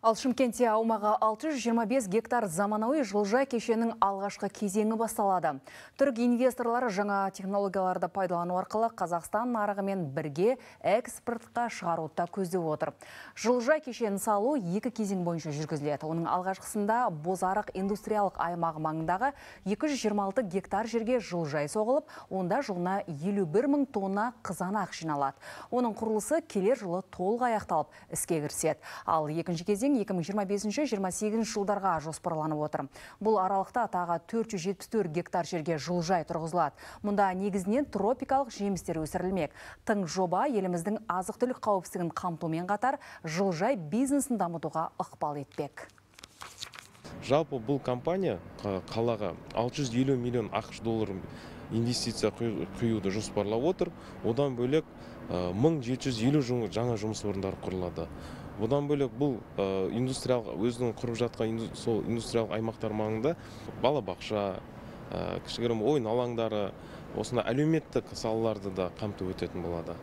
Ал Шымкентте аумағы 625 гектар заманауи жылыжай кешенінің алғашқы кезеңі басталады. Түрік инвесторлары жаңа технологияларды пайдалану арқылы Қазақстан нарығымен бірге экспортқа шығаруды көздеп отыр. Жылыжай кешенін салу екі кезең бойынша жүргізіледі. Оның алғашқысында Бозарық индустриялық аймағы маңындағы 226 гектар жерге жылыжай соғылып, онда жылына 51 мың тонна қызанақ жиналады. Оның құрылысы келер жылы толық аяқталып іске кіріседі. Ал екінші кезең 2025-28 жылдарға жоспарланып отыр. Бұл аралықта тағы 474 гектар жерге жылыжай тұрғызылады. Мұнда негізінен тропикалық жемістер өсірілмек. Тың жоба еліміздің азық-түлік қауіпсіздігін қамтумен қатар жылыжай бизнесін дамытуға ықпал етпек. Жалпы бұл компания қалаға 650 миллион ақш долларын инвестиция құюды жоспарлап отыр. Одан бөлек 1750 жаңа жұмыс орындары құрылады. Одан бөлек бұл өзінің құрып жатқан индустриялық аймақтар маңында балабақша, кішігірім ойын алаңдары, осына әлеуметтік салаларды да қамтып өтетін болады.